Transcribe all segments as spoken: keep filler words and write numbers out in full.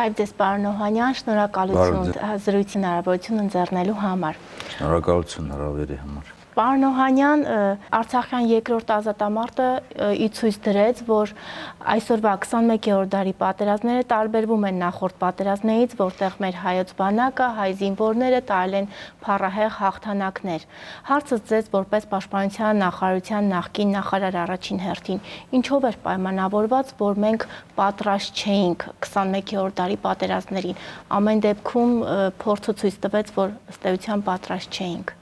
Բարև ձեզ, պարոն Օհանյան, շնորհակալություն զրույցի հնարավորություն ընձեռնելու համար։ Շնորհակալություն հրավերի համար։ Պարոն Օհանյան, Արցախյան երկրորդ ազատամարտը ի ցույց դրեց, որ այսօրվա քսանմեկերորդ դարի պատերազմները տարբերվում են նախորդ պատերազմներից, որտեղ մեր հայոց բանակը, հայ զինվորները տարել են փառահեղ հաղթանակներ։ Հարցը ձեզ որպես Պաշտպանության նախարարության նախկին նախարար առաջին հերթին, ինչով էր պայմանավորված, որ մենք պատրաստ չէինք քսանմեկերորդ դարի պատերազմներին։ Ամեն դեպքում փորձը ցույց տվեց, որ ըստ էության պատրաստ չէինք։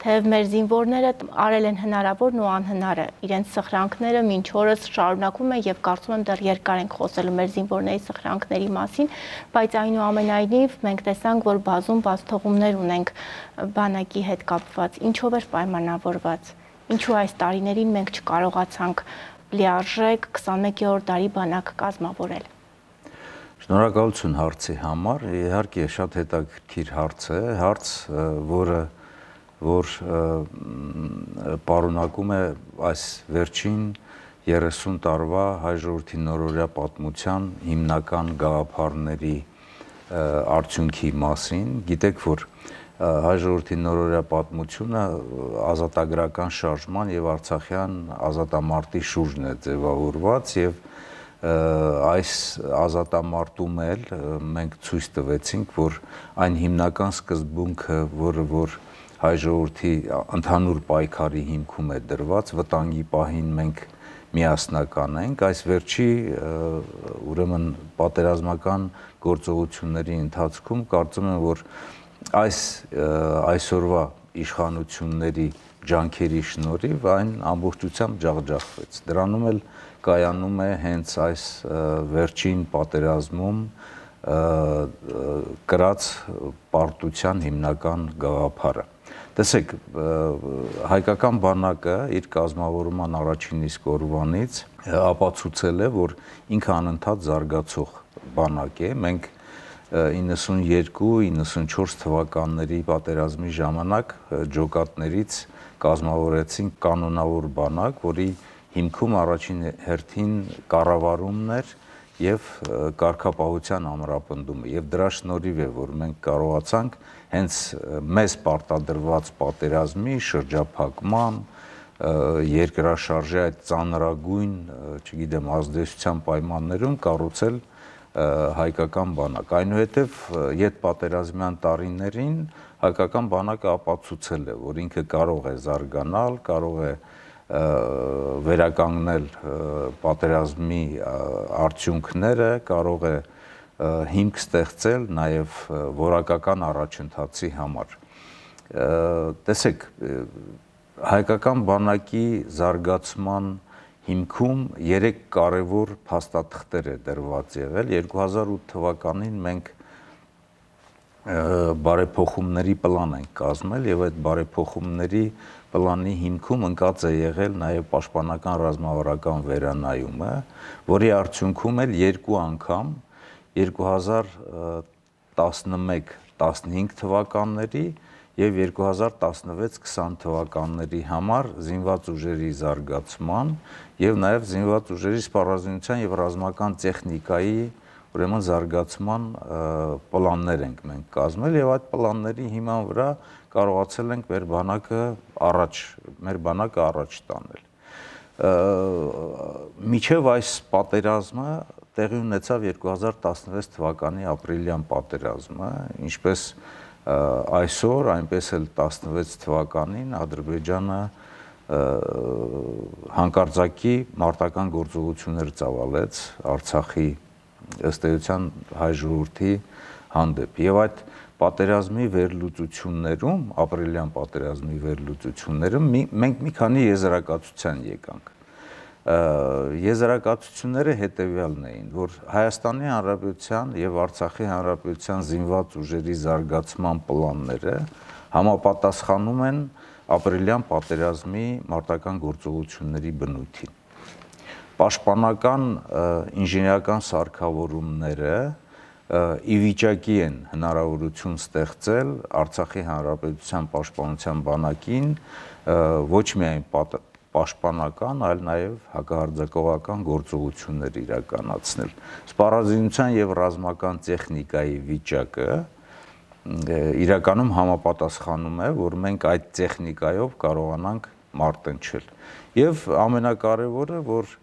Թեև մեր զինվորները արել են հնարավորն ու անհնարը, իրենց սխրանքները մինչ օրս շարունակվում են եւ կարծում եմ դեռ երկար ենք խոսելու մեր զինվորների սխրանքների մասին, բայց այնուամենայնիվ մենք տեսանք, որ բազում բացթողումներ ունենք բանակի հետ կապված։ Ինչով էր պայմանավորված։ Ինչու այս տարիներին մենք չկարողացանք լիարժեք քսանմեկերորդ դարի բանակ կազմավորել։ Շնորհակալություն հարցի համար։ Իհարկե շատ հետաքրքիր հարց է, հարց, որը որ պարունակում է այս վերջին երեսուն տարվա հայ ժողովրդի նորօրյա պատմության հիմնական գաղափարների արդյունքի մասին։ Գիտեք, որ հայ ժողովրդի նորօրյա պատմությունը ազատագրական շարժման եւ արցախյան ազատամարտի շուրջն է ձևավորված եւ այս ազատամարտում էլ մենք ցույց տվեցինք, որ այն հիմնական սկզբունքը, որը որ հայ ժողովրդի ընդհանուր պայքարի հիմքում է դրված, վտանգի պահին մենք միասնական ենք, այս վերջի ուրեմն պատերազմական գործողությունների ընթացքում կարծում եմ, որ այս այսօրվա իշխանությունների ջանքերի շնորհիվ այն ամբողջությամբ ջախջախվեց։ Դրանում էլ կայանում է հենց այս վերջին պատերազմում կրած պարտության հիմնական գաղափարը։ Տեսեք, հայկական բանակը իր կազմավորման առաջին իսկ օրվանից ապացուցել է, որ ինքը անընդհատ զարգացող բանակ է։ Մենք իննսունյերկու իննսունչորս թվականների պատերազմի ժամանակ ջոկատներից կազմավորեցինք կանոնավոր բանակ, որի հիմքում առաջին հերթին կառավարումն էր եւ կարգապահության ամրապնդումը եւ դրա շնորհիվ է, որ մենք կարողացանք հենց մեզ պարտադրված պատերազմի շրջափակման երկրաշարժի այդ ծանրագույն, չգիտեմ, ազդեցության պայմաններում կառուցել հայկական բանակ։ Այնուհետև ետպատերազմյան տարիներին հայկական բանակը ապացուցել է, որ ինքը կարող է զարգանալ, կարող է վերականգնել պատերազմի արդյունքները, կարող է հիմք ստեղծել նաև որակական առաջընթացի համար։ Տեսեք, հայկական բանակի զարգացման հիմքում երեք կարևոր փաստաթղթեր է դրված եղել։ երկու հազար ութ թվականին մենք բարեփոխումների պլան ենք կազմել եւ այդ բարեփոխումների պլանի հիմքում ընկած է եղել նաև պաշտպանական ռազմավարական վերանայումը, որի արդյունքում էլ երկու անգամ երկու հազար տասնմեկ տասնհինգ թվականների եւ երկու հազար տասնվեց քսան թվականների համար զինված ուժերի զարգացման եւ նաեւ զինված ուժերի սպառազինության եւ ռազմական տեխնիկայի ուրեմն զարգացման պլաններ ենք մենք կազմել եւ այդ պլանների հիման վրա կարողացել ենք մեր բանակը առաջ, մեր բանակը առաջ տանել։ Մինչև այս պատերազմը տեղի ունեցավ երկու հազար տասնվեց թվականի ապրիլյան պատերազմը, ինչպես այսօր, այնպես էլ տասնվեց թվականին Ադրբեջանը հանկարծակի մարտական գործողություններ ծավալեց Արցախի ըստ էության հայ ժողովրդի հանդեպ եւ այդ պատերազմի վերլուծություններում, ապրիլյան պատերազմի վերլուծություններում մենք մի քանի եզրակացության եկանք։ Եզրակացությունները հետևյալն էին, որ Հայաստանի Հանրապետության եւ Արցախի Հանրապետության զինված ուժերի զարգացման պլանները համապատասխանում են ապրիլյան պատերազմի մարտական գործողությունների բնույթին։ Պաշտպանական ինժեներական սարքավորումները ի վիճակի են հնարավորություն ստեղծել Արցախի Հանրապետության պաշտպանության բանակին ոչ միայն պաշտպանական, այլ նաև հակահարձակողական գործողություններ իրականացնել։ Սպառազինության եւ ռազմական տեխնիկայի վիճակը իրականում համապատասխանում է, որ մենք այդ տեխնիկայով կարողանանք մարտնչել։ Եվ ամենակարևորը, որ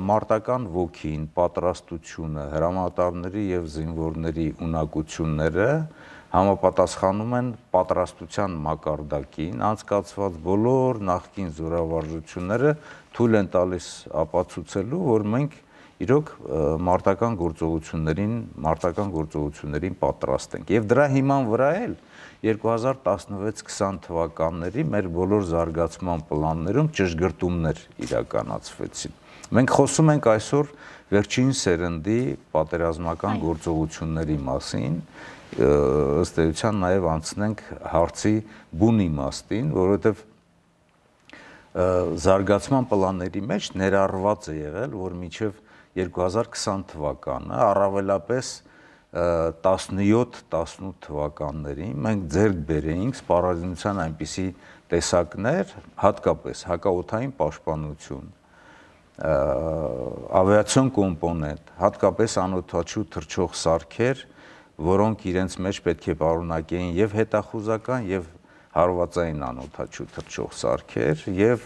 մարտական ոգին, պատրաստությունը, հրամանատարների եւ զինվորների ունակությունները համապատասխանում են պատրաստության մակարդակին, անցկացված բոլոր նախկին զորավարժությունները թույլ են տալիս ապացուցելու, որ մենք իրոք մարտական գործողություններին, մարտական գործողություններին պատրաստ ենք։ Եվ դրա հիման վրա էլ երկու հազար տասնվեց քսան թվականների մեր բոլոր զարգացման պլաններում ճշգրտումներ իրականացվեցին։ Մենք խոսում ենք այսօր վերջին սերնդի պատերազմական գործողությունների մասին, ըստ էության նաև անցնենք հարցի բուն իմաստին, որովհետև զարգացման պլանների մեջ ներառված է եղել, որ մինչև երկու հազար քսան թվականը, առավելապես տասնյոթ տասնութ թվականներին մենք ձեռք բերեինք սպառազինության այնպիսի տեսակներ, հատկապես հակաօդային պաշտպանություն, ավիացիոն կոմպոնենտ, հատկապես անօդաչու թռչող սարքեր, որոնք իրենց մեջ պետք է պարունակեին եւ հետախուզական եւ հարվածային անօդաչու թռչող սարքեր եւ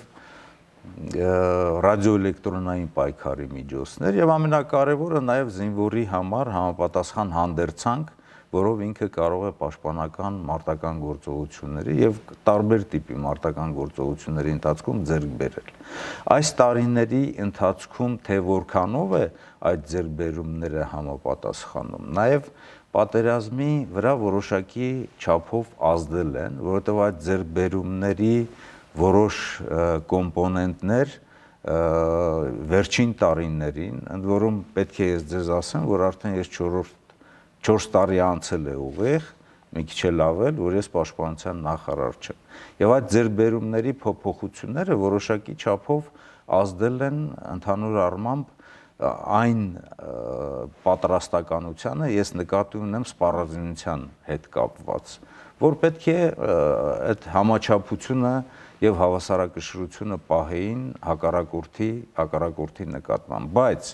ռադիոէլեկտրոնային պայքարի միջոցներ եւ ամենակարևորը նաեւ զինվորի համար համապատասխան հանդերձանք, որով ինքը կարող է պաշտպանական մարտական գործողությունների եւ տարբեր տիպի մարտական գործողությունների ընթացքում ձեռք բերել։ Այս տարիների ընթացքում թե որքանով է այդ ձեռքբերումները համապատասխանում, նաեւ պատերազմի վրա որոշակի չափով ազդել են, որովհետեւ այդ ձեռքբերումների որոշ կոմպոնենտներ վերջին տարիներին, ընդ որում պետք է ես ձեզ ասեմ, որ արդեն ես չորս տարի անցել է ուղիղ, մի քիչ էլ ավել, որ ես պաշտպանության նախարար չեմ։ Եվ այդ ձեռքբերումների փոփոխությունները որոշակի չափով ազդել են ընդհանուր առմամբ այն պատրաստականությանը, ես նկատի ունեմ սպառազինության հետ կապված, որ պետք է այդ համաչափությունը եւ հավասարակշռությունը պահեին հակառակորդի, հակառակորդի նկատմամբ, բայց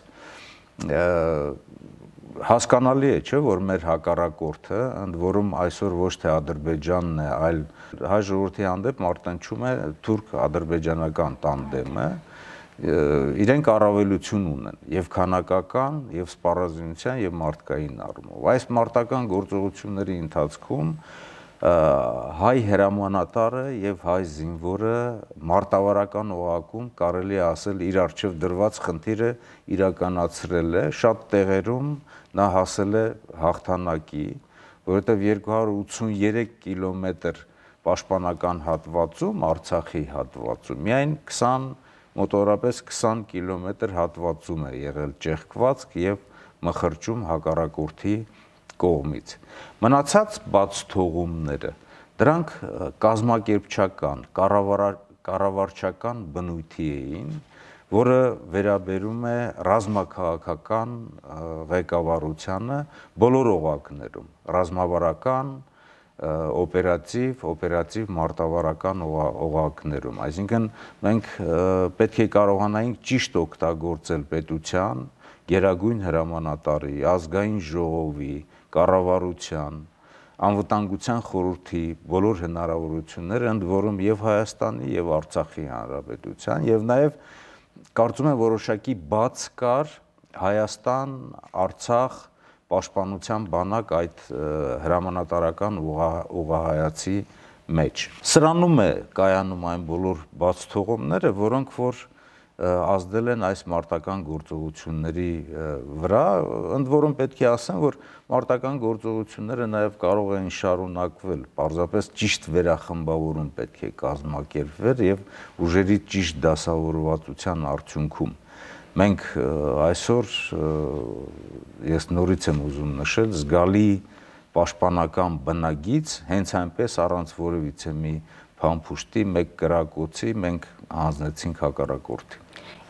հասկանալի է, չէ, որ մեր հակառակորդը, ընդ որում այսօր ոչ թե Ադրբեջանն է, այլ հայ ժողովրդի հանդեպ մարտնչում է թուրք-ադրբեջանական տանդեմը, իրենք առավելություն ունեն եւ քանակական, եւ սպառազինության, եւ մարդկային առումով։ Այս մարտական գործողությունների ընթացքում հայ հրամանատարը եւ հայ զինվորը մարտավարական օղակում կարելի է ասել իր առջև դրված խնդիրը իրականացրել է, շատ տեղերում նա հասել է հաղթանակի, որովհետեւ երկու հարյուր ութսուներեք կիլոմետր պաշտպանական հատվածում, Արցախի հատվածում, միայն քսան մոտավորապես քսան կիլոմետր հատվածում է եղել ճեղքվածք եւ մխրճում հակառակորդի կողմից։ Մնացած բաց թողումները, դրանք կազմակերպչական, կառավարչական բնույթի էին, որը վերաբերում է ռազմաքաղաքական ղեկավարությանը բոլոր օղակներում, ռազմավարական, օպերատիվ, օպերատիվ մարտավարական օղակներում, այսինքն մենք պետք է կարողանայինք ճիշտ օգտագործել պետության, գերագույն հրամանատարի, ազգային ժողովի, կառավարության, անվտանգության խորհրդի բոլոր հնարավորությունները, ընդ որում եւ Հայաստանի եւ Արցախի հանրապետության, եւ նաեւ կարծում եմ որոշակի բաց կար Հայաստան, Արցախ պաշտպանության բանակ այդ հրամանատարական ուղղահայացի մեջ։ Սրանում է կայանում այն բոլոր բաց թողումները, որոնք որ ազդել են այս մարտական գործողությունների վրա, ընդ որում պետք է ասեմ, որ մարտական գործողությունները նաև կարող են շարունակվել, պարզապես ճիշտ վերախմբավորում պետք է կազմակերպվեր եւ ուժերի ճիշտ դասավորվածության արդյունքում։ Մենք այսօր, ես նորից եմ ուզում նշել, զգալի պաշտպանական բնագիծ, հենց այնպես առանց որևիցե մի փամփուշտի, մեկ կրակոցի մենք հանձնեցինք հակառակորդին։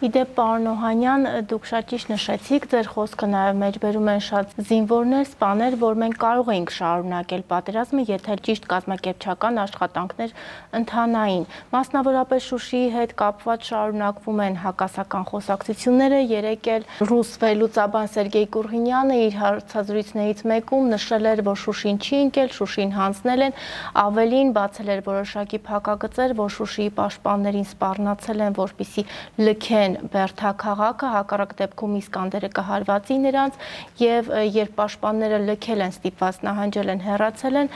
Իդեպ պարոն Օհանյան, դուք շատ ճիշտ նշեցիք, ձեր խոսքը նաև մեջբերում են շատ զինվորներ, սպաներ, որ մենք կարող էինք շարունակել պատերազմը, եթե ճիշտ կազմակերպչական աշխատանքներ ընթանային։ Մասնավորապես Շուշիի հետ կապված շարունակվում են հակասական խոսակցությունները, երեկ էլ ռուս վերլուծաբան Սերգեյ Կուրղինյանը իր հարցազրույցներից մեկում նշել էր, որ Շուշին չի ընկել, Շուշին հանձնել են, ավելին բացել էր որոշակի փակագծեր, որ Շուշիի պաշտպաններին սպառնացել են, որպեսզի լքեն Բերդաքաղաքը, հակառակ դեպքում Իսկանդերը կհարվածի նրանց, եւ երբ պաշտպանները լքել են, ստիպված նահանջել են, հեռացել են,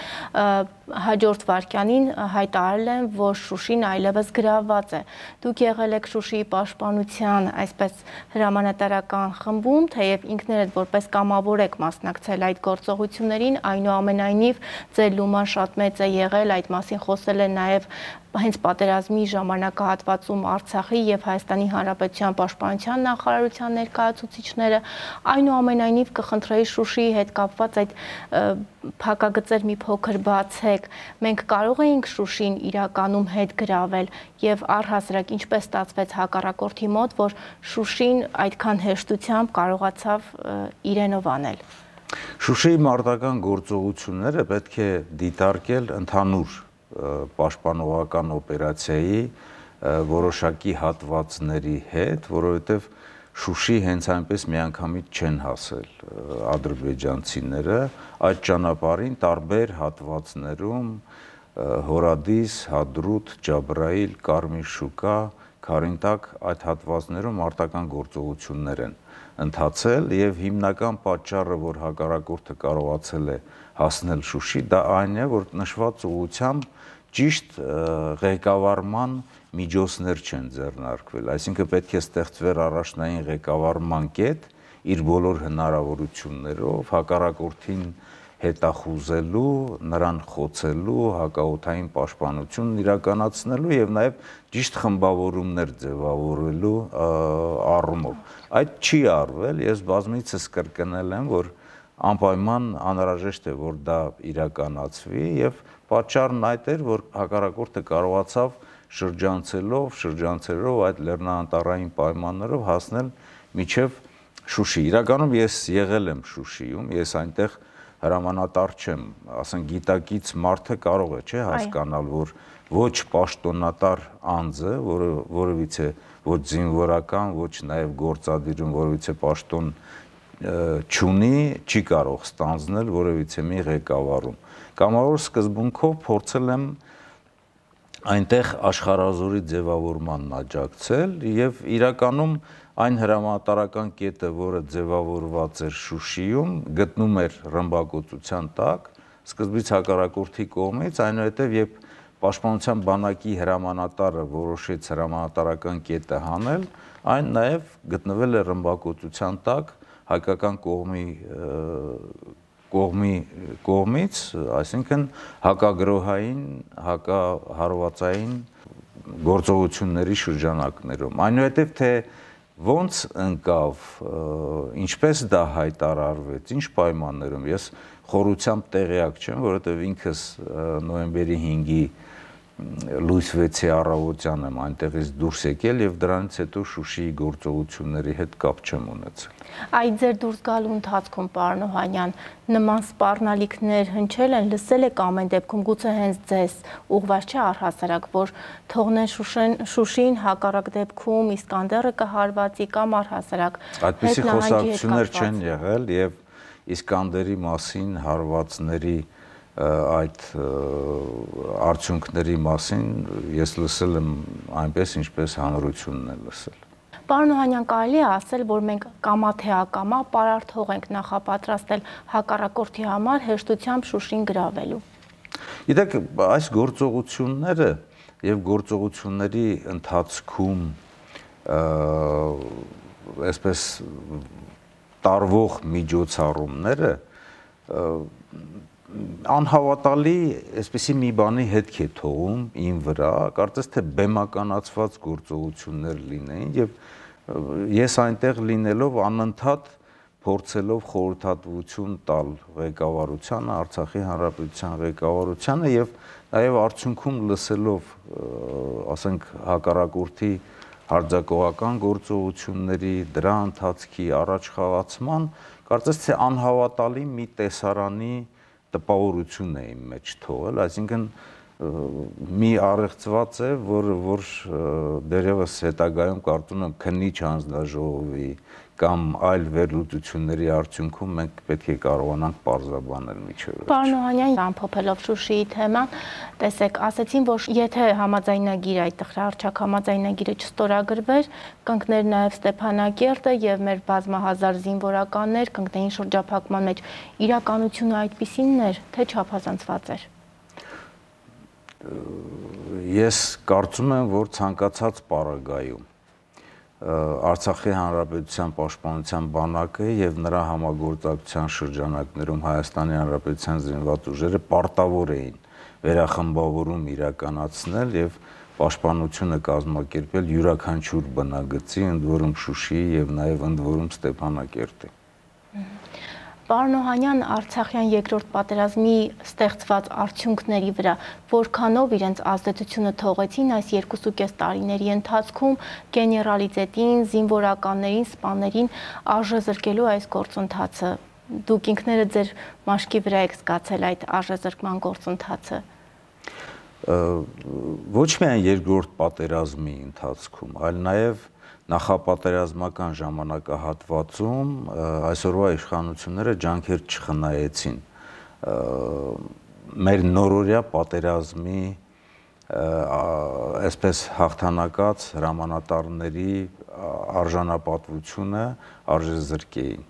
հաջորդ վայրկյանին հայտարարել են, որ Շուշին այլևս գրավված է։ Դուք եղել եք Շուշիի պաշտպանության այսպես հրամանատարական խմբում, թեև ինքներդ որպես կամավոր եք մասնակցել այդ գործողություններին, այնուամենայնիվ ձեր լուման շատ մեծ է եղել, այդ մասին խոսել են նաև հենց պատերազմի ժամանակահատվածում Արցախի եւ Հայաստանի Հանրապետության պաշտպանության նախարարության ներկայացուցիչները, այնուամենայնիվ կխնդրեի Շուշիի հետ կապված այդ փակագծեր մի փոքր բացեք, մենք կարող էինք Շուշին իրականում հետ գրավել եւ առհասարակ ինչպես ստացվեց հակառակորդի մոտ, որ Շուշին այդքան հեշտությամբ կարողացավ իրենով անել։ Շուշիի մարտական գործողությունները պետք է դիտարկել ընդհանուր պաշտպանողական օպերացիայի որոշակի հատվածների հետ, որովհետև Շուշի հենց այնպես միանգամից չեն հասել ադրբեջանցիները, այդ ճանապարհին տարբեր հատվածներում Հորադիս, Հադրութ, Ջաբրայիլ, Կարմիր շուկա, Քարինտակ այդ հատվածներում մարտական գործողություններ են ընթացել եւ հիմնական պատճառը, որ հակառակորդը կարողացել է հասնել Շուշի, դա այն է, որ նշված ուղղությամբ ճիշտ ղեկավարման միջոցներ չեն ձեռնարկվել, այսինքն պետք է ստեղծվեր առաջնային ղեկավարման կետ իր բոլոր հնարավորություններով հակառակորդին հետախուզելու, նրան խոցելու, հակաօդային պաշտպանություն իրականացնելու եւ նաեւ ճիշտ խմբավորումներ ձևավորելու առումով։ Այդ չի արվել, ես բազմիցս կրկնել եմ, որ անպայման անհրաժեշտ է, որ դա իրականացվի եւ պատճառն այդ էր, որ հակառակորդը կարողացավ շրջանցելով, շրջանցելով այդ լեռնանատարային պայմաններով հասնել միջև Շուշի։ Իրականում ես եղել եմ Շուշիում, ես այնտեղ հրամանատար չեմ, ասենք գիտակից մարդը կարող է, չէ, հասկանալ, որ ոչ պաշտոնատար անձը, որը որևիցե ոչ զինվորական, ոչ նաև գործադիրում որևիցե պաշտոն չունի, չի կարող ստանձնել որևիցե մի ղեկավարում։ Կամավոր սկզբունքով փորձել եմ այնտեղ աշխարհազորի ձևավորմանն աջակցել եւ իրականում այն հրամանատարական կետը, որը ձևավորված էր Շուշիում, գտնում էր ռմբակոծության տակ, սկզբից հակառակորդի կողմից, այնուհետև երբ Պաշտպանության բանակի հրամանատարը որոշեց հրամանատարական կետը հանել, այն նաև գտնվել է ռմբակոծության տակ հայկական կողմի կողմի կողմից, այսինքն հակագրոհային, հակահարվածային գործողությունների շրջանակներում։ Այնուհետև թե ոնց ընկավ, ինչպես դա հայտարարվեց, ինչ պայմաններում, ես խորությամբ տեղյակ չեմ, որովհետև ինքս նոյեմբերի հինգի լույս վեցի առավոտյան եմ այնտեղից դուրս եկել եւ դրանից հետո Շուշիի գործողությունների հետ կապ չեմ ունեցել։ Այդ ձեր դուրս գալու ընթացքում, պարոն Օհանյան, նման սպառնալիքներ հնչել են, լսել եք ամեն դեպքում, գուցե հենց ձեզ ուղղված չէ առհասարակ, որ թողնեն Շուշին, հակառակ դեպքում Իսկանդերը կհարվածի կամ առհասարակ այդպիսի խոսակցություններ չեն եղել եւ Իսկանդերի մասին հարվածների այդ արդյունքների մասին ես լսել եմ այնպես, ինչպես հանրությունն է լսել։ Պարոն Օհանյան, կարելի է ասել, որ մենք կամա թե ակամա պարարթող ենք նախապատրաստել հակառակորդի համար հեշտությամբ Շուշին գրավելու։ Գիտեք, այս գործողությունները եւ գործողությունների ընթացքում այսպես տարվող միջոցառումները անհավատալի այսպեսի մի բանի հետք է թողում իմ վրա, կարծես թե բեմականացված գործողություններ լինեին եւ ես այնտեղ լինելով անընդհատ փորձելով խորհրդատվություն տալ ղեկավարությանը, Արցախի Հանրապետության ղեկավարությանը եւ նաեւ արդյունքում լսելով, ասենք, հակառակորդի հարձակողական գործողությունների, դրա ընթացքի առաջ խաղացման, կարծես թե անհավատալի մի տեսարանի տպավորություն է իմ մեջ թողել, այսինքն մի առեղծված է, որ որ դերևս հետագայում կարծում եմ քննիչ հանձնաժողովի կամ այլ վերլուծությունների արդյունքում մենք պետք է կարողանանք պարզաբանել միջև վերջ։ Պարոն Օհանյան, ամփոփելով Շուշիի թեման, տեսեք, ասեցին, որ եթե համաձայնագիրը, այդտեղ հռչակ համաձայնագիրը չստորագրվեր, կընկներ նաև Ստեփանակերտը եւ մեր բազմահազար զինվորականներ կընկնեին շրջափակման մեջ։ Իրականությունը այդպիսինն էր, թե չափազանցված էր։ Ես կարծում եմ, որ ցանկացած պարագայում Արցախի Հանրապետության Պաշտպանության բանակը եւ նրա համագործակցության շրջանակներում Հայաստանի Հանրապետության զինված ուժերը պարտավոր էին վերախմբավորում իրականացնել եւ պաշտպանությունը կազմակերպել յուրաքանչյուր բնագծի, ընդ որում Շուշիի եւ նաեւ ընդ որում Ստեփանակերտի։ Պարոն Օհանյան, Արցախյան երկրորդ պատերազմի ստեղծված արդյունքների վրա որքանով իրենց ազդեցությունը թողեցին այս երկուսուկես տարիների ընթացքում գեներալիտետին, զինվորականներին, սպաներին արժե զրկելու այս գործընթացը։ Դուք ինքներդ ձեր մաշկի վրա եք զգացել այդ արժեզրկման գործընթացը։ Ոչ միայն երկրորդ պատերազմի ընթացքում, այլ նաեւ նախապատերազմական ժամանակահատվածում այսօրվա իշխանությունները ջանքեր չխնայեցին մեր նորորյա պատերազմի այսպես հաղթանակած հրամանատարների արժանապատվությունը արժեզրկեին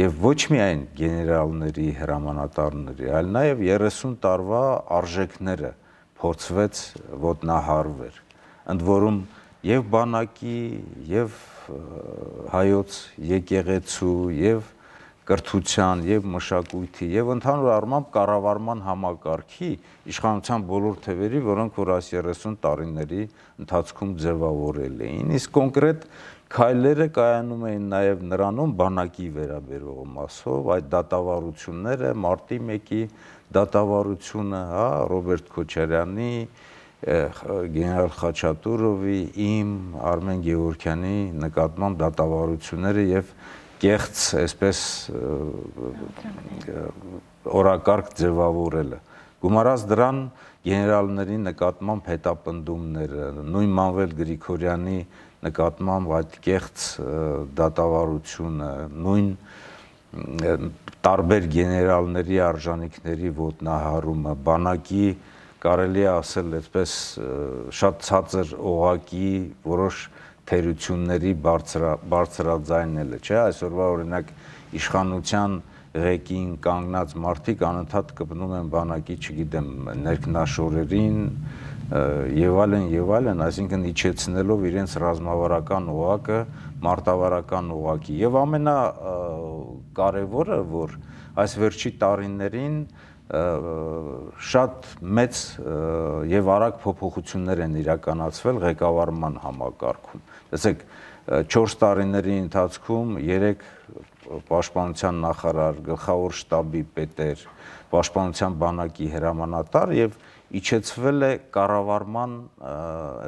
եւ ոչ միայն գեներալների, հրամանատարների, այլ նաեւ երեսուն տարվա արժեքները փորձվեց ոտնահարվել, ընդ որում եւ բանակի, եւ հայոց եկեղեցու, եւ կրթության, եւ մշակույթի, եւ ընդհանուր առմամբ կառավարման համակարգի իշխանության բոլոր թևերի, որոնք որ այս երեսուն տարիների ընթացքում ձևավորել էին։ Իսկ կոնկրետ քայլերը կայանում էին նաեւ նրանում բանակի վերաբերող մասով, այդ դատավարությունները, մարտի մեկի դատավարությունը, հա, Ռոբերտ Քոչարյանի, գեներալ Խաչատուրովի, իմ, Արմեն Գևորգյանի նկատմամբ դատավարությունները եւ կեղծ այսպես օրակարգ ձևավորելը։ Գումարած դրան գեներալների նկատմամբ հետապնդումները, նույն Մանվել Գրիգորյանի նկատմամբ այդ կեղծ դատավարությունը, նույն տարբեր գեներալների արժանինքների ոտնահարումը, բանակի կարելի է ասել այսպես շատ ցածր օղակի որոշ թերությունների բարձրաձայնելը, չէ՞, այսօրվա օրինակ իշխանության ղեկին կանգնած մարդիկ անընդհատ կպնում են բանակի, չգիտեմ, ներքնաշորերին եւ այլն եւ այլն, այսինքն իջեցնելով իրենց ռազմավարական օղակը մարտավարական օղակի։ Եվ ամենակարևորը, որ այս վերջի տարիներին շատ մեծ եւ արագ փոփոխություններ են իրականացվել ղեկավարման համակարգում։ Տեսեք, չորս տարիների ընթացքում երեք պաշտպանության նախարար, գլխավոր շտաբի պետեր, պաշտպանության բանակի հրամանատար եւ իջեցվել է կառավարման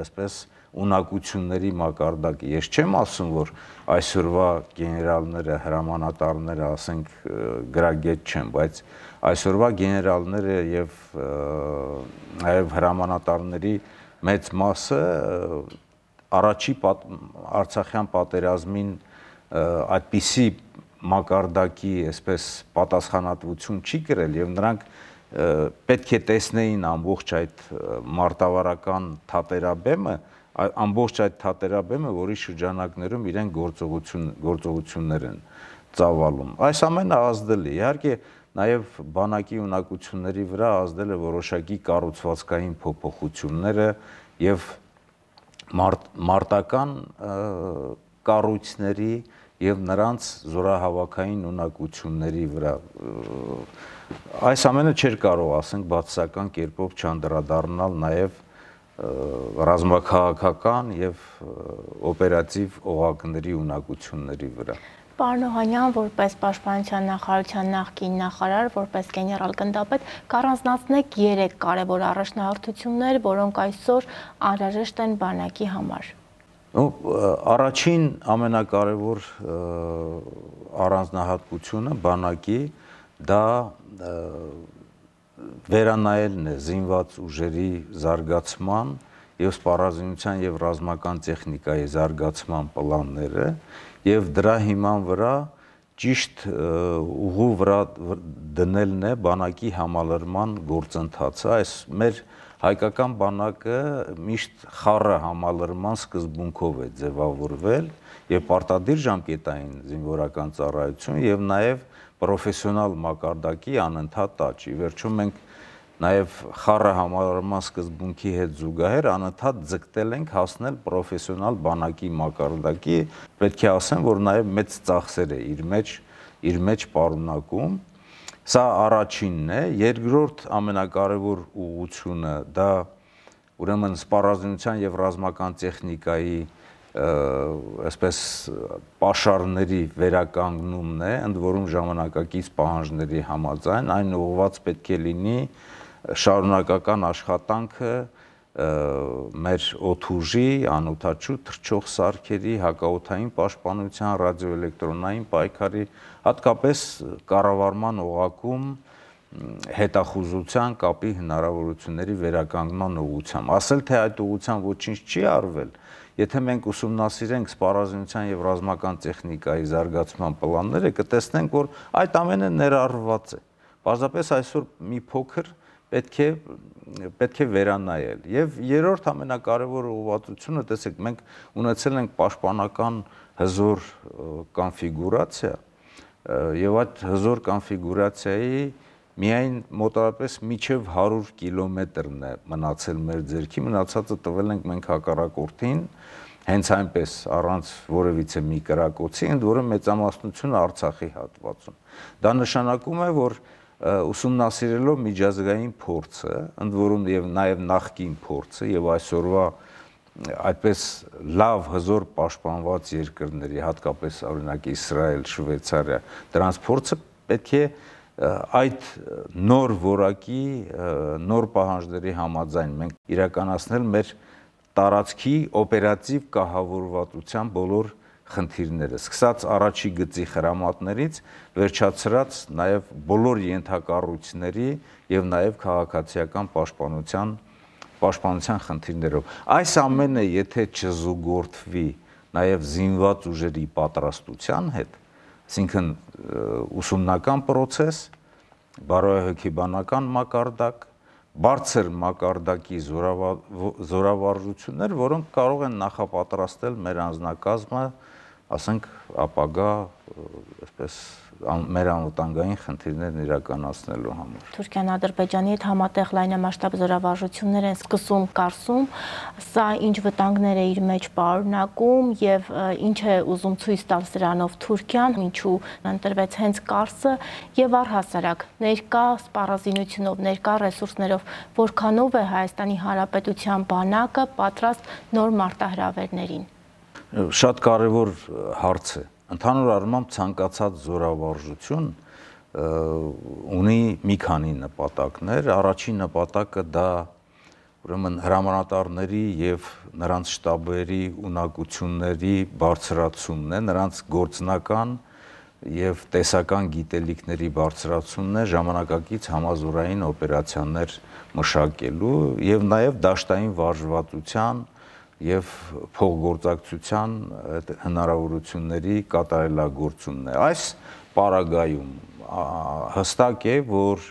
այսպես ունակությունների մակարդակը։ Ես չեմ ասում, որ այսօրվա գեներալները, հրամանատարները, ասենք, գրագետ չեն, բայց այսօրվա գեներալները եւ նաեւ հրամանատարների մեծ մասը առաջի Արցախյան պատերազմին այդպիսի մակարդակի, այսպես պատասխանատվություն չի կրել եւ նրանք պետք է տեսնեին ամբողջ այդ մարտավարական թատերաբեմը, ամբողջ այդ թատերաբեմը, որի շրջանակներում իրեն գործողություն գործողություններ են ծավալում։ Այս ամենը ազդել է, իհարկե նաև բանակի ունակությունների վրա ազդել է որոշակի կառուցվածքային փոփոխությունները եւ մարտ, մարտական կառույցների եւ նրանց զորահավաքային ունակությունների վրա։ Այս ամենը չէր կարող, ասենք, բացասական կերպով չանդրադառնալ նաեւ ռազմաքաղաքական եւ օպերատիվ օղակների ունակությունների վրա։ Պարոն Օհանյան, որպես Պաշտպանության նախարարության նախկին նախարար, որպես գեներալ գնդապետ, կառանձնացնեք երեք կարևոր առաջնահերթություններ, որոնք այսօր անհրաժեշտ են բանակի համար։ Առաջին ամենակարևոր առանձնահատկությունը բանակի դա վերանայելն է զինված ուժերի զարգացման եւ սպառազինության եւ ռազմական տեխնիկայի զարգացման պլանները եւ դրա հիման վրա ճիշտ ուղու վրա դնելն է բանակի համալրման գործընթացը։ Այս մեր հայկական բանակը միշտ խառը համալրման սկզբունքով է ձևավորվել եւ պարտադիր ժամկետային զինվորական ծառայություն եւ նաեւ պրոֆեսիոնալ մակարդակի անընդհատ աճ։ Ի վերջո մենք նաեւ խառը համալրման սկզբունքի հետ զուգահեռ անընդհատ ձգտել ենք հասնել պրոֆեսիոնալ բանակի մակարդակի, պետք է ասեմ, որ նաեւ մեծ ծախսեր է իր մեջ իր մեջ պարունակում։ Սա առաջինն է, երկրորդ ամենակարևոր ուղղությունը դա ուրեմն սպառազինության եւ ռազմական տեխնիկայի այսպես պաշարների վերականգնումն է, ընդ որում ժամանակակից պահանջների համաձայն, այն ուղղված պետք է լինի շարունակական աշխատանքը մեր օդուժի, անօդաչու թռչող սարքերի, հակաօդային պաշտպանության, ռադիոէլեկտրոնային պայքարի, հատկապես կառավարման օղակում հետախուզության կապի հնարավորությունների վերականգնման ուղղությամբ։ Ասել թե այդ ուղղությամբ ոչինչ չի արվել, եթե մենք ուսումնասիրենք սպառազինության եւ ռազմական տեխնիկայի զարգացման պլանները, կտեսնենք, որ այդ ամենը ներառված է։ Պարզապես այսօր մի փոքր պետք է պետք է վերանայել։ Եվ երրորդ ամենակարևոր ուղղվածությունը, տեսեք, մենք ունեցել ենք պաշտպանական հզոր կոնֆիգուրացիա, եւ այդ հզոր կոնֆիգուրացիայի միայն մոտավորապես միջև հարյուր կիլոմետրն է մնացել մեր ձեռքի, մնացածը տվել ենք մենք հակառակորդին, հենց այնպես առանց որևիցե մի կրակոցի, ընդ որում մեծամասնությունը Արցախի հատվածում։ Դա նշանակում է, որ ուսումնասիրելով միջազգային փորձը, ընդ որում եւ նաեւ նախկին փորձը եւ այսօրվա այդպես լավ հզոր պաշտպանված երկրների, հատկապես օրինակ Իսրայել, Շվեյցարիա, դրանց փորձը պետք է այդ նոր որակի, նոր պահանջների համաձայն մենք իրականացնել մեր տարածքի օպերատիվ կահավորվածության բոլոր խնդիրները, սկսած առաջի գծի խրամատներից, վերջացրած նաև բոլոր ենթակառույցների եւ նաև քաղաքացիական պաշտպանության պաշտպանության խնդիրներով։ Այս ամենը եթե չզուգորդվի նաև զինված ուժերի պատրաստության հետ, այսինքն ուսումնական process, բարոյահոգեբանական մակարդակ, բարձր մակարդակի զորավարժություններ, որոնք կարող են նախապատրաստել մեր անձնակազմը, ասենք, ապագա, այսպես, մեր անվտանգային խնդիրներն իրականացնելու համար։ Թուրքիան Ադրբեջանի հետ համատեղ լայնամասշտաբ զորավարժություններ են սկսում Կարսում, սա ինչ վտանգներ է իր մեջ պարունակում եւ ինչ է ուզում ցույց տալ սրանով Թուրքիան, ինչու ընտրվեց հենց Կարսը եւ առհասարակ ներկա սպառազինությունով, ներկա ռեսուրսներով, որքանով է Հայաստանի Հանրապետության բանակը պատրաստ նոր մարտահրավերներին։ Շատ կարևոր հարց է։ Ընդհանուր առմամբ ցանկացած զորավարժություն ունի մի քանի նպատակներ։ Առաջին նպատակը դա ուրեմն հրամանատարների եւ նրանց շտաբերի ունակությունների բարձրացումն է, նրանց գործնական եւ տեսական գիտելիքների բարձրացումն է ժամանակակից համազորային օպերացիաներ մշակելու եւ նաեւ դաշտային վարժվածության եւ փոխգործակցության հնարավորությունների կատարելագործումն է։ Այս պարագայում հստակ է, որ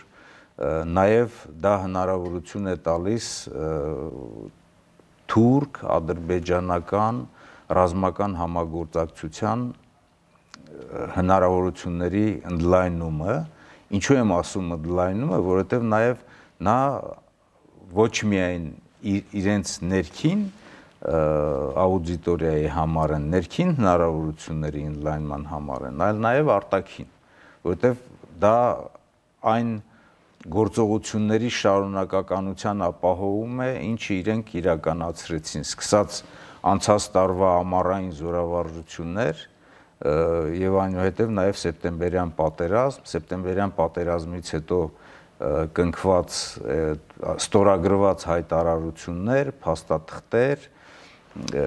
նաեւ դա հնարավորություն է տալիս թուրք, ադրբեջանական ռազմական համագործակցության հնարավորությունների ընդլայնումը, ինչու եմ ասում ընդլայնումը, որովհետեւ նաեւ նա ոչ միայն իրենց ներքին աուդիտորիայի համար են, ներքին հնարավորությունների ընդլայնման համար են, այլ նաև արտաքին, որովհետև դա այն գործողությունների շարունակականության ապահովում է, ինչը իրենք իրականացրեցին, սկսած անցած տարվա ամառային զորավարժություններ եւ այնուհետեւ նաև սեպտեմբերյան պատերազմ, սեպտեմբերյան պատերազմից հետո կնքված ստորագրված հայտարարություններ, փաստաթղթեր,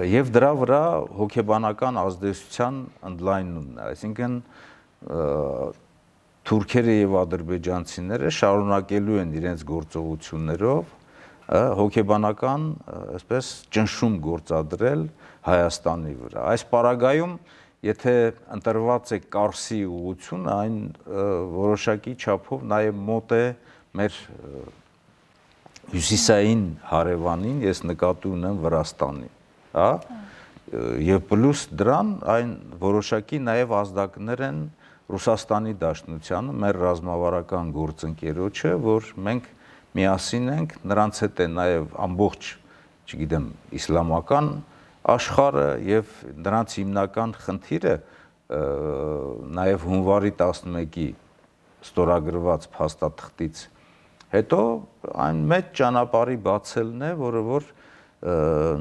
եւ դրա վրա հոգեբանական ազդեցության ընդլայնումն է, այսինքն թուրքերը եւ ադրբեջանցիները շարունակելու են իրենց գործողություններով հոգեբանական, այսպես ճնշում գործադրել Հայաստանի վրա։ Այս պարագայում, եթե ընտրված է Կարսի ուղղությունը, այն որոշակի չափով նաեւ մոտ է մեր հյուսիսային հարևանին, ես նկատի ունեմ Վրաստանին, հա, եւ պլյուս դրան այն որոշակի նաեւ ազդակներ են Ռուսաստանի Դաշնությանը, մեր ռազմավարական գործընկերոջը, որ մենք միասին ենք, նրանց հետ է նաեւ ամբողջ, չգիտեմ, իսլամական աշխարհը եւ նրանց հիմնական խնդիրը նաեւ հունվարի տասնմեկի ստորագրված փաստաթղթից հետո այն մեծ ճանապարհի բացելն է, որը որ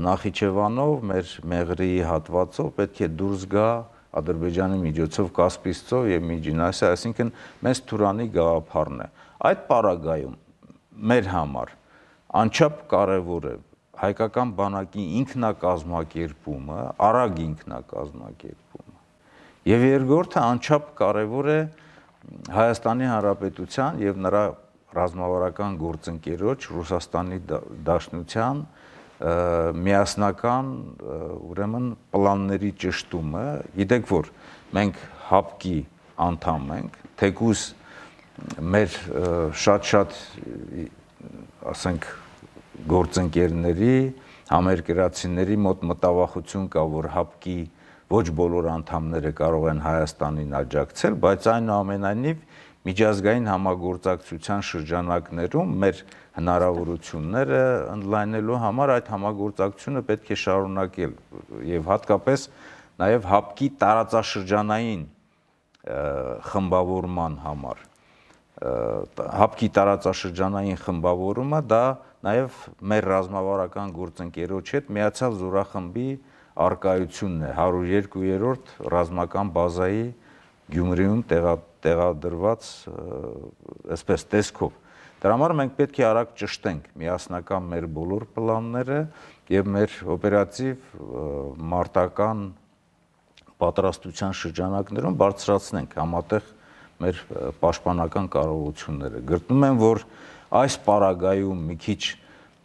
Նախիջևանով մեր Մեղրիի հատվածով պետք է դուրս գա Ադրբեջանի միջոցով Կասպից ծով եւ Միջին Ասիա, այսինքն մեծ Թուրանի գաղափարն է։ Այդ պարագայում մեր համար անչափ կարևոր է հայկական բանակի ինքնակազմակերպումը, արագ ինքնակազմակերպումը։ Եվ երկրորդը անչափ կարևոր է Հայաստանի Հանրապետության եւ նրա ռազմավարական գործընկերոջ Ռուսաստանի Դաշնության միասնական, ուրեմն պլանների ճշտումը։ Գիտեք, որ մենք հապկի անդամ ենք, թեկուզ մեր շատ-շատ, ասենք, գործընկերների, համերկրացիների մոտ մտավախություն կա, որ հապկի ոչ բոլոր անդամները կարող են Հայաստանին աջակցել, բայց այնուամենայնիվ միջազգային համագործակցության շրջանակներում մեր հնարավորությունները ընդլայնելու համար այդ համագործակցությունը պետք է շարունակել եւ հատկապես նաեւ հապկի տարածաշրջանային խմբավորման համար հապկի տարածաշրջանային խմբավորումը դա նաեւ մեր ռազմավարական գործընկերոջ հետ միացյալ զորախմբի արկայությունն է հարյուր երկու-րդ ռազմական բազայի Գյումրիում տեղադրված այսպես տեսքով։ Դրա համար մենք պետք է արագ ճշտենք միասնական մեր բոլոր պլանները եւ մեր օպերատիվ մարտական պատրաստության շրջանակներում բարձրացնենք համատեղ մեր պաշտպանական կարողությունները։ Գտնում եմ, որ այս պարագայում մի քիչ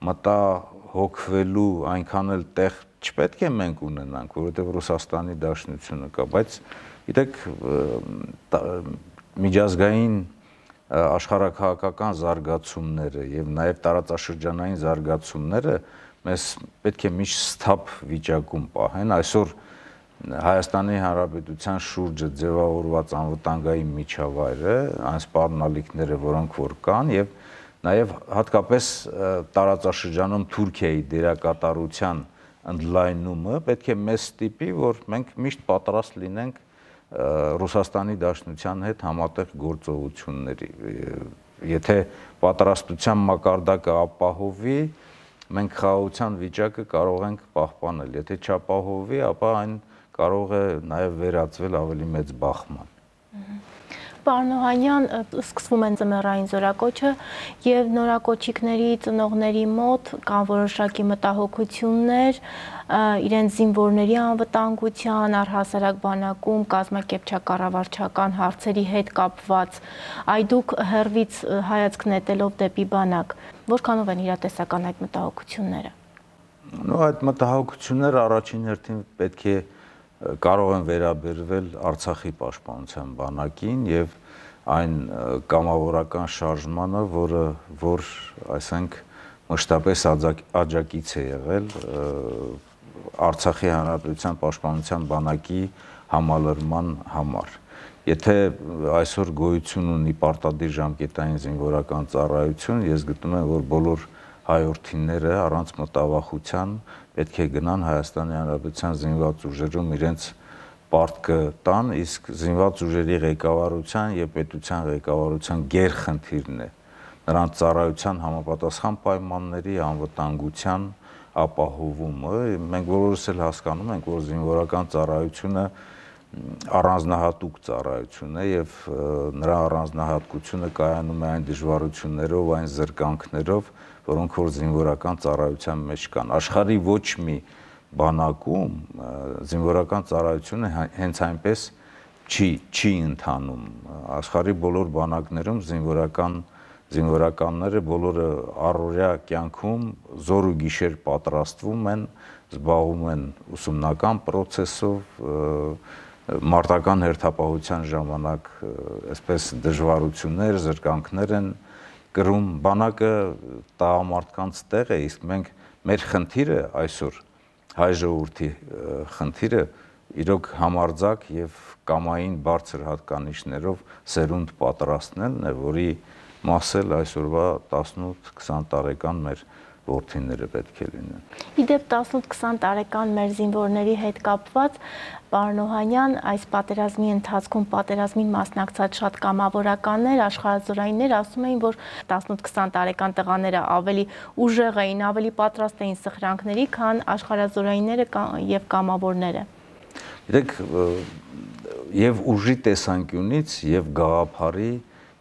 մտահոգվելու այնքան էլ տեղ չպետք է մենք ունենանք, որովհետեւ Ռուսաստանի Դաշնությունը կա, բայց գիտեք, միջազգային աշխարհակահաղական զարգացումները եւ նաեւ տարածաշրջանային զարգացումները մեզ պետք է միշտ սթափ վիճակում պահեն։ Այսօր Հայաստանի Հանրապետության շուրջը ձևավորված անվտանգային միջավայրը, այն սպառնալիքները, որոնք որ կան եւ նաեւ հատկապես տարածաշրջանում Թուրքիայի դերակատարության ընդլայնումը պետք է մեզ ստիպի, որ մենք միշտ պատրաստ լինենք Ռուսաստանի Դաշնության հետ համատեղ գործողությունների։ Եթե պատրաստության մակարդակը ապահովի, մենք խաղաղության վիճակը կարող ենք պահպանել։ Եթե չապահովի, ապա այն կարող է նաև վերածվել ավելի մեծ բախման։ Պարոն Օհանյան, սկսվում են ձմեռային զորակոչը եւ նորակոչիկների ծնողների մոտ կան որոշակի մտահոգություններ իրենց զինվորների անվտանգության, առհասարակ բանակում կազմակերպչական հարցերի հետ կապված։ Այ դուք հերվից հայացք նետելով դեպի բանակ, որքանով են իրատեսական այդ մտահոգությունները։ Նո, այդ մտահոգությունները առաջին հերթին պետք է կարող են վերաբերվել Արցախի պաշտպանության բանակին եւ այն կամավորական շարժմանը, որը որ այսինք մշտապես աջակից է եղել Արցախի Հանրապետության պաշտպանության բանակի համալրման համար։ Եթե այսօր գոյություն ունի պարտադիր ժամկետային զինվորական ծառայություն, ես գտնում եմ, որ բոլոր հայորդիները առանց մտավախության պետք է գնան Հայաստանի Հանրապետության զինված ուժերում իրենց պարտքը տան, իսկ զինված ուժերի ղեկավարության եւ պետության ղեկավարության գերխնդիրն է նրանց ծառայության համապատասխան պայմանների անվտանգության ապահովումը։ Մենք բոլորս էլ հասկանում ենք, որ զինվորական ծառայությունը առանձնահատուկ ծառայություն է եւ նրա առանձնահատկությունը կայանում է այն դժվարություններով, այն զրկանքներով, որոնք որ զինվորական ծառայության մեջ կան։ Աշխարհի ոչ մի բանակում զինվորական ծառայությունը հենց այնպես չի չի ընթանում։ Աշխարհի բոլոր բանակներում զինվորական զինվորականները բոլորը առօրյա կյանքում զոր ու գիշեր պատրաստվում են, զբաղվում են ուսումնական process-ով, մարտական հերթապահության ժամանակ այսպես դժվարություններ, զրկանքներ են կրում, բանակը տղամարդկանց տեղ է, իսկ մենք մեր խնդիրը այսօր հայ ժողովրդի խնդիրը իրոք համարձակ եւ կամային բարձր հատկանիշներով սերունդ պատրաստելն է, որի մասել այսօրվա տասնութ քսան տարեկան մեր որդիները պետք է լինեն։ Իդեպ տասնութ քսան տարեկան մեր զինվորների հետ կապված, պարոն Օհանյան, այս պատերազմի ընթացքում պատերազմին մասնակցած շատ կամավորականներ, աշխարհազորայիններ ասում էին, որ տասնութ քսան տարեկան տղաները ավելի ուժեղ էին, ավելի պատրաստ էին սխրանքների, քան աշխարհազորայինները եւ կամավորները։ Գիտեք, եւ ուժի տեսանկյունից եւ գաղափարի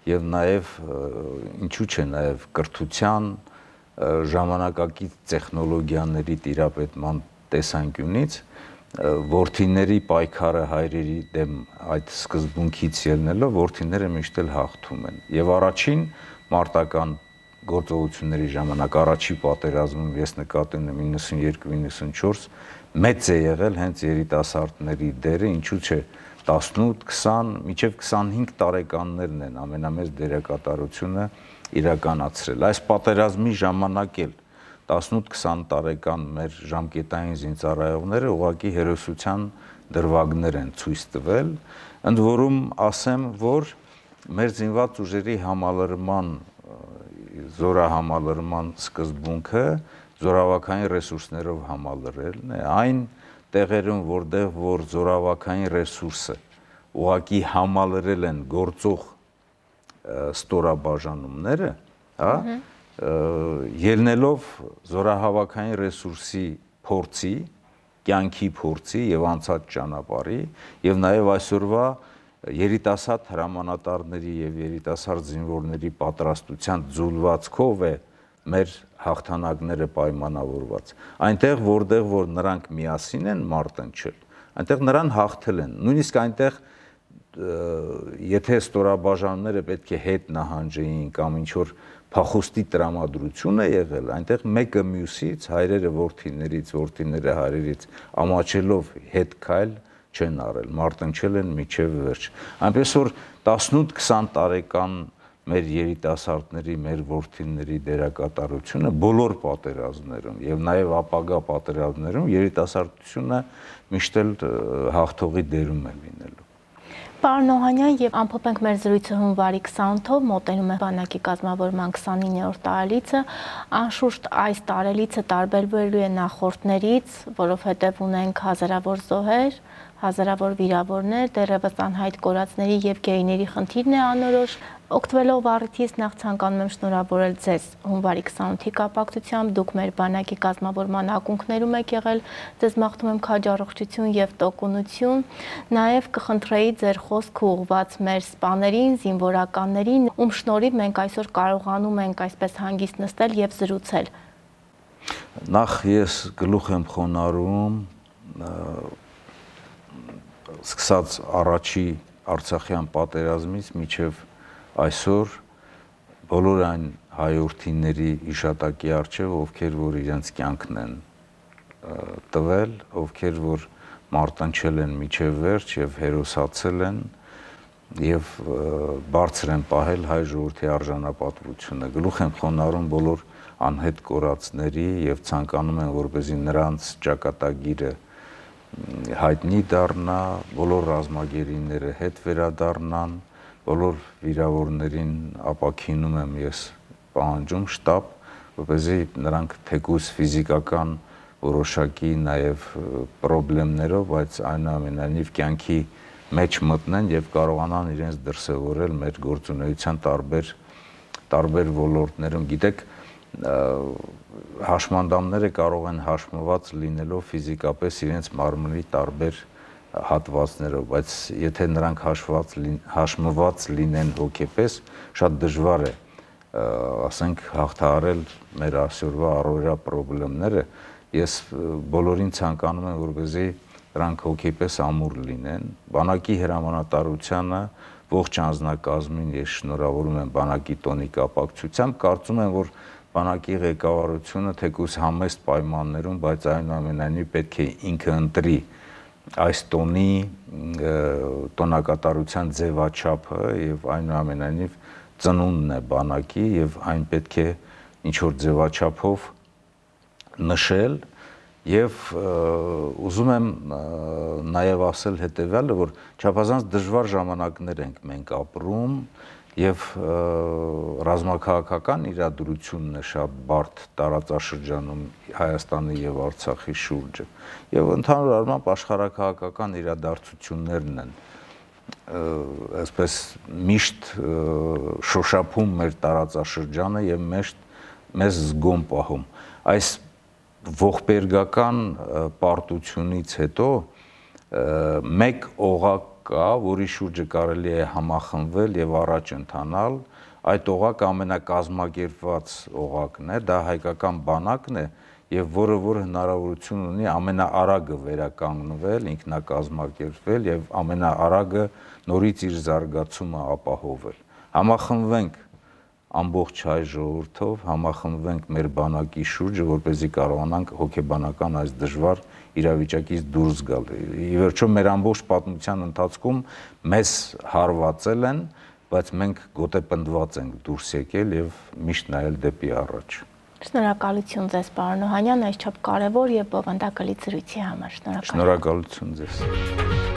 եւ նաեւ ինչու՞ չէ նաեւ կրթության ժամանակակից տեխնոլոգիաների տիրապետման տեսանկյունից որդիների պայքարը հայրերի դեմ այդ սկզբունքից ելնելով որդիները միշտ էլ հաղթում են եւ առաջին մարտական գործողությունների ժամանակ առաջի պատերազմում ես նկատի ունեմ իննսունյոթ իննսունչորս մեծ է եղել հենց երիտասարդների դերը, ինչու՞ չէ տասնութ քսան մինչև քսանհինգ տարեկաններն են ամենամեծ դերակատարությունը իրականացրել։ Այս պատերազմի ժամանակ էլ տասնութ քսան տարեկան մեր ժամկետային զինծառայողները ուղղակի հերոսության դրվագներ են ցույց տվել, ընդ որում ասեմ, որ մեր զինված ուժերի համալրման զորահամալրման սկզբունքը զորավարքային ռեսուրսներով համալրելն է, այն տեղերում, որտեղ որ զորավարքային ռեսուրսը ուղղակի համալրել են գործող ստորաբաժանումները, հա, ելնելով զորահավաքային ռեսուրսի փորձի, կյանքի փորձի եւ անցած ճանապարհի եւ նաեւ այսօրվա երիտասարդ հրամանատարների եւ երիտասարդ զինվորների պատրաստության ձուլվածքով է մեր հաղթանակները պայմանավորված։ Այնտեղ, որտեղ որ նրանք միասին են մարտնչել, այնտեղ նրան հաղթել են։ Նույնիսկ այնտեղ եթե ստորաբաժանումները պետք է հետ նահանջեին կամ ինչ որ փախուստի տրամադրություն է եղել, այնտեղ մեկը մյուսից, հայրերը որդիներից, որդիները հայրերից ամաչելով հետ քայլ չեն արել, մարտնչել են միջև վերջ։ Այնպես որ տասնութ քսան տարեկան մեր երիտասարդների, մեր որդիների դերակատարությունը բոլոր պատերազմներում եւ նաեւ ապագա պատերազմներում երիտասարդությունը միշտ էլ հաղթողի դերում է լինելու։ Պարոն Օհանյան, եւ ամփոփենք մեր զրույցը հունվարի քսանութով, մոտենում է բանակի կազմավորման քսանիններորդ տարելիցը, անշուշտ այս տարելիցը տարբերվելու է նախորդներից, որովհետեւ ունենք հազարավոր զոհեր, հազարավոր վիրավորներ, դեռևս անհայտ կորածների եւ գերիների խնդիրն է անորոշ։ Օգտվելով առիթից նախ ցանկանում եմ շնորհավորել ձեզ հունվարի քսանութի կապակցությամբ, դուք մեր բանակի կազմավորման ակունքներում եք եղել, ձեզ մաղթում եմ քաջառողջություն եւ տոկունություն, նաեւ կխնդրեի ձեր խոսքը ուղղված մեր սպաներին, զինվորականներին, ում շնորհիվ մենք այսօր կարողանում ենք այսպես հանգիստ նստել եւ զրուցել։ Նախ ես գլուխ եմ խոնարհում սկսած առաջի Արցախյան պատերազմից մինչև այսօր բոլոր այն հայրենիների իշտակի արչև, ովքեր որ իրենց կյանքն են տվել, ովքեր որ մարտնչել են միջև վերջ եւ հերոսացել են եւ բարձր են պահել հայ ժողովրդի արժանապատվությունը։ Գլուխ եմ խոնարհում բոլոր անհետ կորածների եւ ցանկանում եմ, որպեսզի նրանց ճակատագիրը հայտնի դառնա, բոլոր ռազմագերիները հետ վերադառնան, բոլոր վիրավորներին ապաքինում եմ ես պահանջում շտաբ, որպեսզի նրանք թեկուզ ֆիզիկական որոշակի նաև պրոբլեմներով, բայց այնուամենայնիվ կյանքի մեջ մտնեն եւ կարողանան իրենց դրսևորել մեր գործունեության տարբեր տարբեր ոլորտներում։ Գիտեք, հաշմանդամները կարող են հաշմված լինելով ֆիզիկապես իրենց մարմնի տարբեր հատվածներով, բայց եթե նրանք հաշված հաշմված լինեն հոգեպես, շատ դժվար է ասենք հաղթահարել մեր այսօրվա առօրյա պրոբլեմները ես բոլորին ցանկանում եմ, որպեսզի դրանք հոգեպես ամուր լինեն։ Բանակի հրամանատարությանը, ողջ անձնակազմին ես շնորհավորում եմ բանակի տոնի կապակցությամբ, կարծում եմ, որ բանակի ղեկավարությունը թեկուզ համեստ պայմաններում, բայց այնուամենայնիվ պետք է ինքը ընտրի այս տոնի տոնակատարության ձևաչափը եւ այնուամենայնիվ ծնունդն է բանակի եւ այն պետք է ինչ որ ձևաչափով նշել եւ ուզում եմ նաեւ ասել հետեւյալը, որ չափազանց դժվար ժամանակներ ենք մենք ապրում եւ ռազմաքաղաքական իրադրությունն է շատ բարդ տարածաշրջանում Հայաստանի եւ Արցախի շուրջը եւ ընդհանուր առմամբ աշխարհաքաղաքական իրադարձություններն են այսպես միշտ շոշափում մեր տարածաշրջանը եւ մեզ զգոն պահում այս ողբերգական պարտությունից հետո մեկ օղակ կա, որի շուրջը կարելի է համախմբվել եւ առաջ ընթանալ, այդ օղակը ամենակազմակերպված օղակն է, դա հայկական բանակն է եւ որը որ հնարավորություն ունի ամենաարագը վերականգնվել, ինքնակազմակերպվել եւ ամենաարագը նորից իր զարգացումը ապահովել։ Համախմբվենք ամբողջ հայ ժողովրդով, համախմբվենք մեր բանակի շուրջը, որպեսզի կարողանանք հոգեբանական այս դժվար իրավիճակից դուրս գալ։ Ի վերջո մեր ամբողջ պատմության ընթացքում մեզ հարվածել են, բայց մենք գոտեպնդված ենք դուրս եկել եւ միշտ նայել դեպի առաջ։ Շնորհակալություն ձեզ, պարոն Օհանյան, այսչափ կարևոր եւ բովանդակալի զրույցի համար։ Շնորհակալություն։ Շնորհակալություն ձեզ։